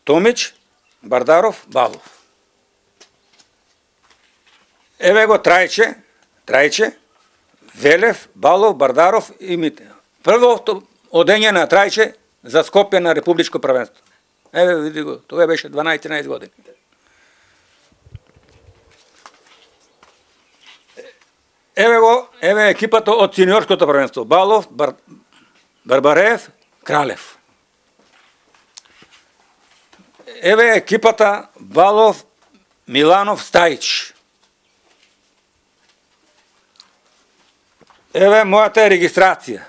Томич, Бардаров, Балов. Еве го Трајче, Трајче, Велев, Балов, Бардаров и Мите. Првото одење на Трајче за Скопје на републичко првенство. Еве види го, тоа беше дванаесет-тринаесет години. Еве го, еве екипата од сениорското првенство. Балов, Бар... Барбареев, Кралев. Еве екипата Балов, Миланов, Стајич. Еве мојата регистрација.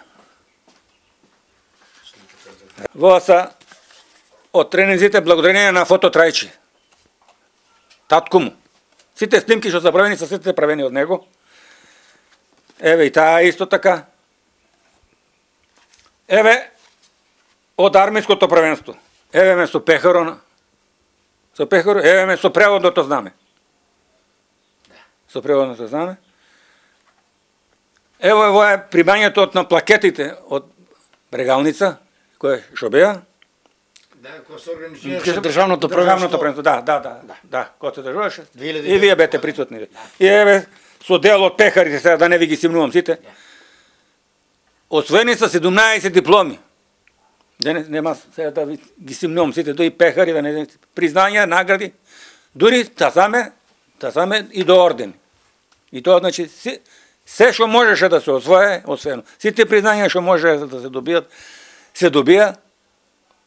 Во са од тренинзите благодарение на фото Трајче. Татко му. Сите снимки што се правени се сите правени од него. Еве и таа исто така. Еве од армиското првенство. Еве ме со пехарона. Со пехаро, еве ме со преводното знаме. Со преводното знаме. Ево ево е примањето од на плакетите од Брегалница, кој што беа. Да, кој се организираше државното првенство. првенство, да, да, да, да, да, кој се држуваше. И вие бете присутни. И еве со дел од пехарите, сега да не ви ги симнувам сите. Освоени са седумнаесет дипломи. Денес нема сега да ви ги симнувам сите, до и пехари, да не признања, награди, дури та саме, та саме и до ордени. И тоа значи си, се што можеше да се освое, освоено. Сите признања што може да се добијат, се добија,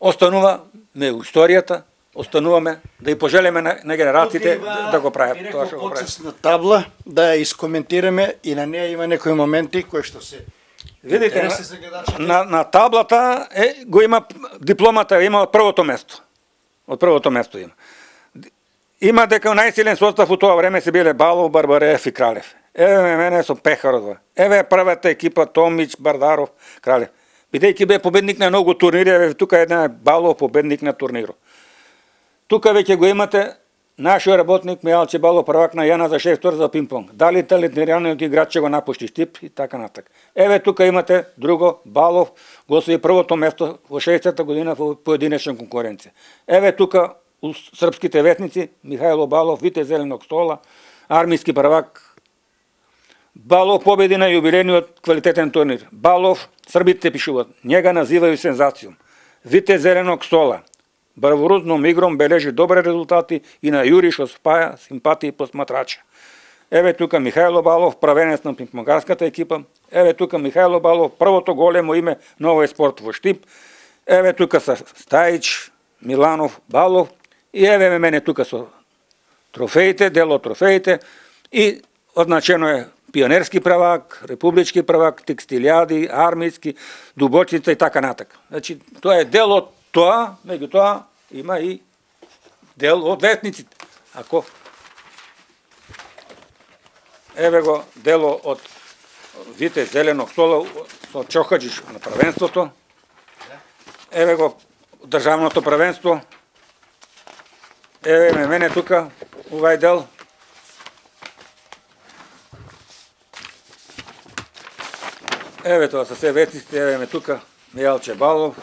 останува ме историјата, остануваме да и пожелеме на, на генерациите да, да го прават тоа што го прават. Почесна табла да ја искоментираме и на неја има некои моменти кои што се видите на, на, на таблата е го има дипломата, има од првото место. Од првото место има. Има дека најсилен состав у тоа време се биле Балов, Барбареев и Кралев. Еве мене со Пехаров. Еве првата екипа Томич, Бардаров, Кралев. Бидејќи бе победник на многу турнири, еве тука една Балов победник на турнирот. Тука веќе го имате нашиот работник Мијалче Балов, првак на Јана за шест за пинг-понг. Дали талентираниот играч ќе го напушти Стип и така натака. Еве тука имате друго Балов, го освои првото место во шеесетта година во поединечна конкуренција. Еве тука у српските ветници Михајло Балов, витез зеленog стола, армиски првак. Балов победи на јубилејниот квалитетен турнир. Балов, србите пишуваат, njega називају сензацијом. Витез зеленog стола. Бравурозном игром бележи добри резултати и на Јури што спаја симпатии посматрача. Еве тука Михајло Балов, правенец на пинг-понгарската екипа. Еве тука Михајло Балов, првото големо име на овој спорт во Штип. Еве тука са Стајич, Миланов, Балов. И еве мене тука со трофеите, дел од трофеите. И означено е пионерски правак, републички правак, текстилијади, армијски, дубочица и така натака. Значи, тоа е дел од тоа, меѓутоа има и дел од ветниците. Ако еве го дело од витез зеленog стола со Чохаджиш на првенството. Еве го државното првенство. Еве ме мене тука овај дел. Еве тоа се се ветниците, еве ме тука Мијалче Балов.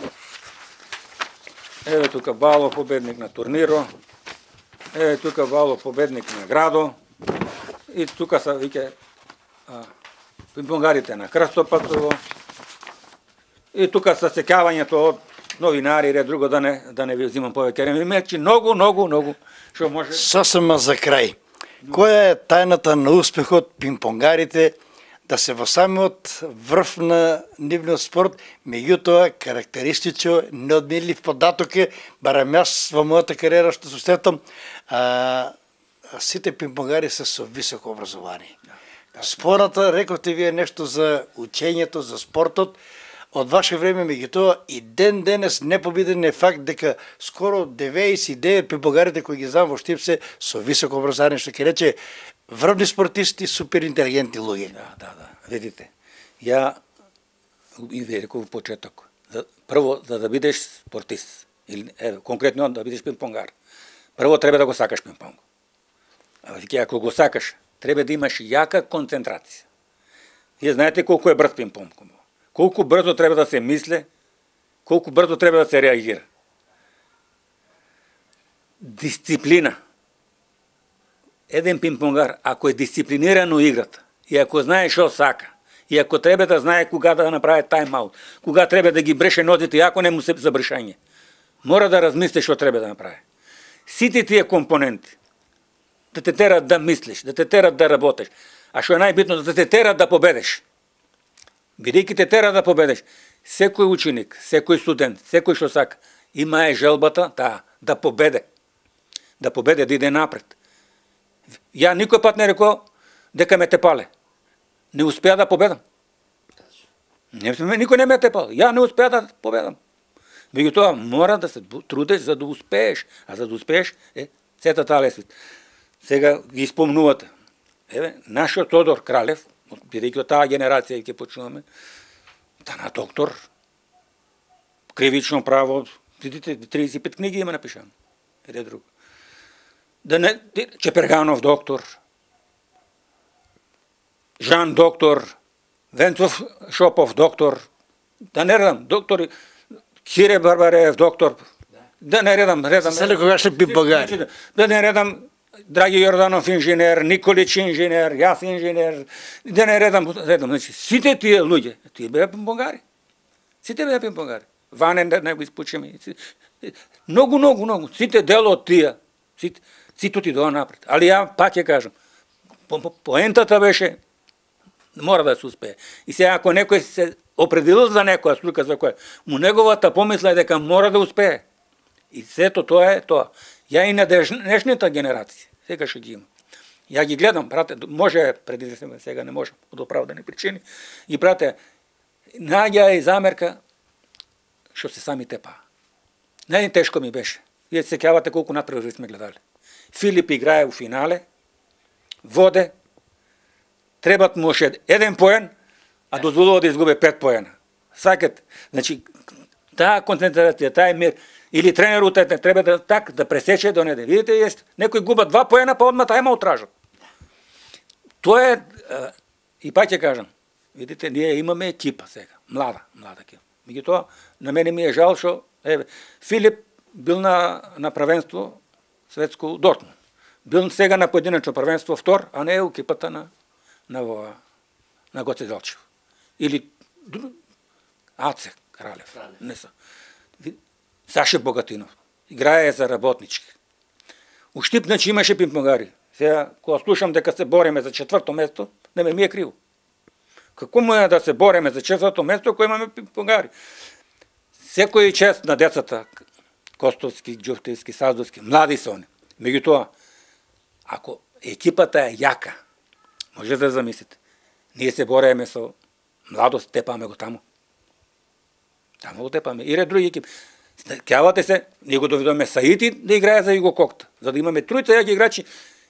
Еве тука Балов победник на турниро. Еве тука Балов победник на градо. И тука са виќе пинг-понгарите на Крстопатово. И тука са сеќавањето од новинари, ред друго да не да не ви взимам повеќе време. Мечи многу, многу, многу што може. Сосема за крај. Која е тајната на успехот пинг-понгарите да се во самиот врв на нивниот спорт, меѓутоа карактеристично неодменлив податок е, барем јас во мојата кариера што се сетам, а, сите пинг-понгари се со високо образование. Спората, рековте вие нешто за учењето, за спортот, од ваше време, меѓутоа и ден денес непобеден е факт дека скоро деветдесет и девет пимпонгарите кои ги знам во Штипсе со високо образование, што ќе рече врвни спортисти, супер интелигентни луѓе. Да, да, да. Видите, ја и ви реков во почеток, за, прво за да бидеш спортист или е, конкретно да бидеш пимпонгар, прво треба да го сакаш пимпонг. А веќе ако го сакаш, треба да имаш јака концентрација. Вие знаете колку е брз пимпонг. Колку брзо треба да се мисле, колку брзо треба да се реагира. Дисциплина. Еден пимпонгар, ако е дисциплиниран у играта, и ако знае што сака, и ако треба да знае кога да направи тајм-аут, кога треба да ги бреше нозите, ако не му се забршање, мора да размисли што треба да направи. Сите тие компоненти, да те терат да мислиш, да те терат да работиш, а што е најбитно, да те терат да победиш. Бидејќи те тера да победиш, секој ученик, секој студент, секој што сака, има е желбата таа да победе. Да победе, да иде напред. Ја никој пат не рекол дека ме тепале. Не успеа да победам. Не, никој не ме тепал. Ја не успеа да победам. Меѓутоа мора да се трудиш за да успееш, а за да успееш е сета таа лесвица. Сега ги спомнувате. Еве, нашиот Тодор Кралев, бидејќи од таа генерација ќе почнуваме, тана доктор, кривично право, видите, триесет и пет книги има напишано. Еде друго. Да не, Чеперганов доктор, Жан доктор, Венцов Шопов доктор, да не редам, доктор Хире Барбареев доктор, да не редам, редам. Селе когашни пимпонгари. Да не редам, Драги Јорданов инженер, Николич инженер, јас инженер, да не редам, редам. Значи, сите тие луѓе, тие беа пимпонгари. Сите беа пимпонгари. Ванен да не го испучиме. Многу, многу, многу. Сите дел од тие, сите, сите отидоа напред. Али ја пак ќе кажам, по, по, поентата беше, мора да се успее. И сега ако некој се определил за некоја случка за која, му неговата помисла е дека мора да успее. И сето тоа е тоа. Ја и на днешната генерација, сега што ги има. Ја ги гледам, брате, може преди да се сега не може од оправдани причини, и брате, наѓа и замерка што се сами тепа. Најтешко ми беше. Вие се сеќавате колку натпревари сме гледали. Филип играе у финале, воде, требат му уште еден поен, а дозволува да изгубе пет поена. Сакат, значи, таа концентрација, тај мир, или тренерот не треба да так да пресече до неде. Видите, јест, некој губа два поена, па одма тајма утражат. Тоа е, и пак ќе кажам, видите, ние имаме екипа сега, млада, млада екипа. Меѓутоа, на мене ми е жал што, еве, Филип бил на, на првенство светско Дортмунд. Бил сега на поединечно првенство втор, а не е у екипата на, на, на, на Гоце Делчев. Или Аце Кралев. Не са. Саше Богатинов. Играе за работнички. У Штип, значи, имаше пимпонгари. Сега, кога слушам дека се бориме за четврто место, не ме ми е криво. Како му е да се бориме за четврто место, ако имаме пимпонгари? Секој чест на децата, Костовски, Ѓуфтевски, Саздовски, млади се они. Меѓутоа, ако екипата е јака, може да замислите, ние се бориме со младост, тепаме го таму. Таму го тепаме. И ред други екипи. Кјавате се, ние го доведоме Саити да играе за Југококта, за да имаме тројца јаки играчи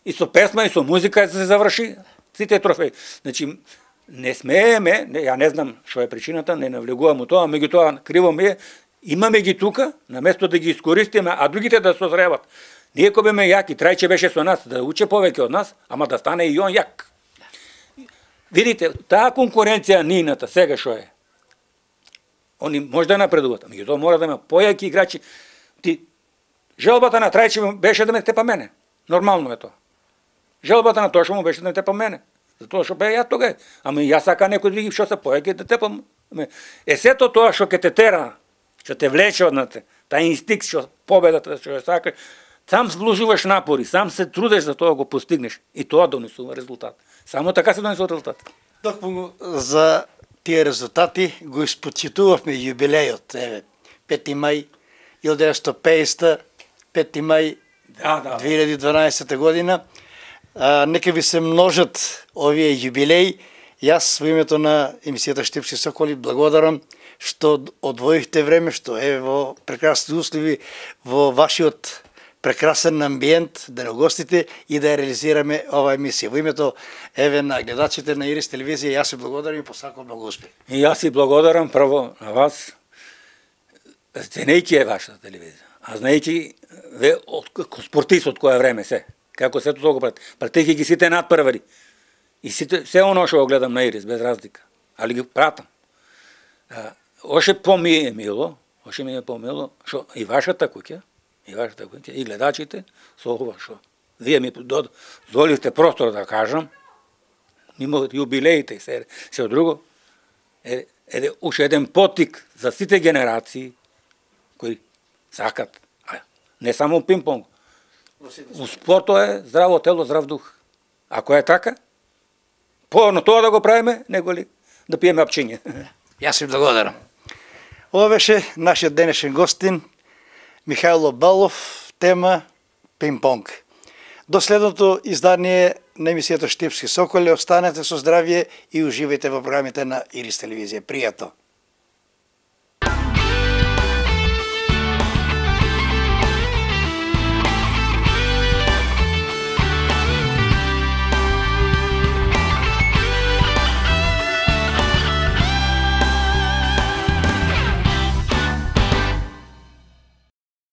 и со песма и со музика да се заврши сите трофеи. Значи, не смееме, не, ја не знам што е причината, не навлегувам у тоа, меѓутоа криво ми е, имаме ги тука, наместо да ги искористиме, а другите да созреват. Ние кој беме јаки, Трајче беше со нас, да уче повеќе од нас, ама да стане и он јак. Видите, таа конкуренција нината, сега што е, они може да напредуваат, меѓутоа мора да има појаки играчи. Ти, желбата на Трајче беше да ме тепа мене. Нормално е тоа. Желбата на Тошо му беше да ме тепа мене. Затоа што бе ја тога. Ама ја сака некој други што се појаки да тепам. Е сето тоа што ќе те тера, што те влече однате, тај инстинкт што победата што ја сакаш, сам вложуваш напори, сам се трудеш за тоа го постигнеш и тоа донесува резултат. Само така се донесува резултат. Токму за тие резултати го испочитувавме јубилејот, еве, пети мај илјадесетстотини и педесета, пети мај да, да. две илјади и дванаесета година. А, нека ви се множат овие јубилеи. Јас во името на емисијата Штипски соколи благодарам што одвоихте време, што е во прекрасни услови, во вашиот прекрасен амбиент да не гостите и да ја реализираме ова емисија. Во името еве на гледачите на Ирис телевизија, јас се благодарам и посакувам многу успех. И јас си благодарам прво на вас, ценејќи е вашата телевизија, а знаејќи ве од спортист од кое време се, како сето тоа го прати, пратејќи ги сите надпревари. И сите, се оно што го гледам на Ирис, без разлика, али ги пратам. Оше по-ми е мило, оше ми е по-мило, што и вашата куќа, и вашата куќа, и гледачите, со ова што вие ми дозволивте простор да кажам, мимо јубилеите и се, се од друго, е, е уште еден потик за сите генерации кои сакат, а не само пинг-понг. У спортот е здраво тело, здрав дух. Ако е така, поно тоа да го правиме, него ли да пиеме апчиње. Јас ви благодарам. Ова беше нашиот денешен гостин, Михајло Балов, тема пинг-понг. До следното издание на емисијата Штипски соколи, останете со здравје и уживајте во програмите на Ирис телевизија. Пријатно!